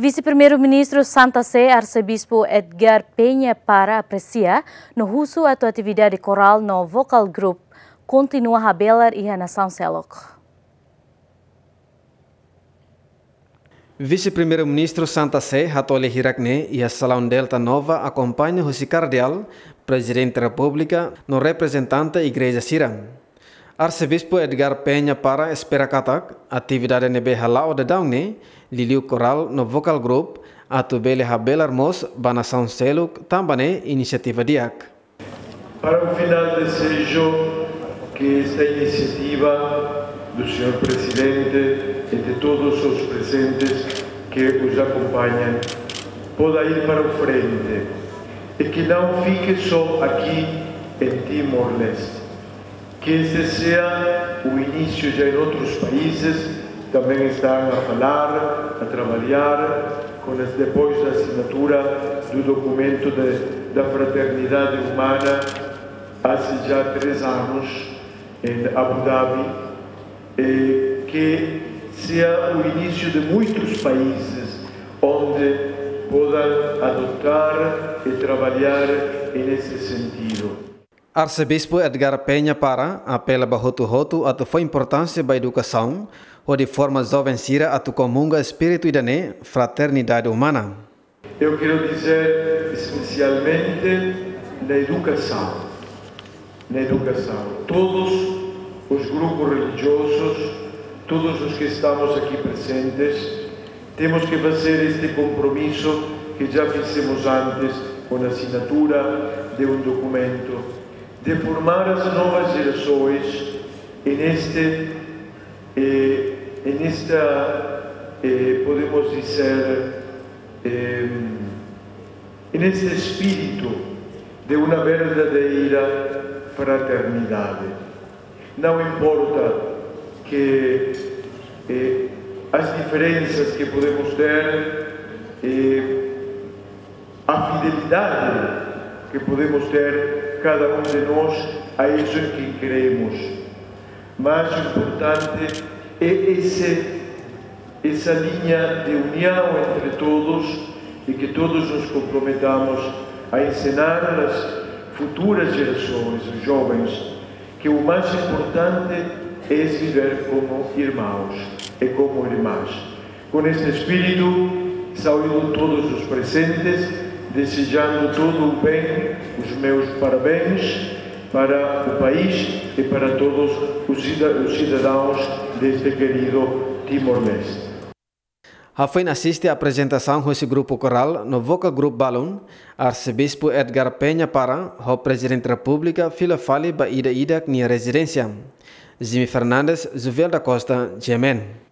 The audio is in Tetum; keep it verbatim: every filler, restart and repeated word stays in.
Vise-Primeiru-Ministru Santa Sé, Arsebispu Edgar Peña Parra apresia no husu atu atividade korál no vocal group kontinua habelar iha nasaun seluk. Vise-Primeiru-Ministru Santa Sé hato'o lia hirak-ne'e iha Salaun Delta Nova akompaña husi kardeál, Prezidente Repúblika no reprezentante igreja sira. Arsebispu Edgar Peña Parra espera katak atividade ne'ebé hala'o daudaun ne'e, liuliu korál no vocal group, atu bele habelar mós ba nasaun seluk, tanba ne'e inisiativa di'ak. Para o final, desejo que esta iniciativa do senhor Presidente e de todos os presentes que os acompanham possa ir para o frente e que não fique só aqui em Timor-Leste. Que este seja o início já em outros países, também estão a falar, a trabalhar, com as, depois da assinatura do documento de, da fraternidade humana, há já três anos, em Abu Dhabi, e que seja o início de muitos países onde possam adotar e trabalhar nesse sentido. Arsebispu Edgar Peña Parra apela ba hotu-hotu atu fó importánsia ba edukasaun, hodi forma joven sira atu komunga espíritu ida-ne'e, fraternidade umana. Eu quero dizer especialmente na educação. Na educação. Todos os grupos religiosos, todos os que estamos aqui presentes, temos que fazer este compromisso que já fizemos antes com a assinatura de um documento, de formar as novas gerações e neste, eh, e nesta, eh, podemos dizer, eh, e neste espírito de uma verdadeira fraternidade. Não importa que, eh, as diferenças que podemos ter, eh, a fidelidade que podemos ter, cada um de nós, a isso que queremos. Mas o importante é esse, essa linha de união entre todos e que todos nos comprometamos a ensinar às futuras gerações, os jovens, que o mais importante é viver como irmãos e como irmãs. Com este espírito, saúdo todos os presentes, desejando todo o bem, os meus parabéns para o país e para todos os cida-, os cidadãos deste querido Timor-Leste. Hafoin asiste aprezentasaun husi grupu korál no vocal group balun, Arsebispu Edgar Peña Parra ho Prezidente Repúblika fila fali ba ida-idak nia rezidénsia. Jimmy Fernandes, Juvel da Costa, G M N.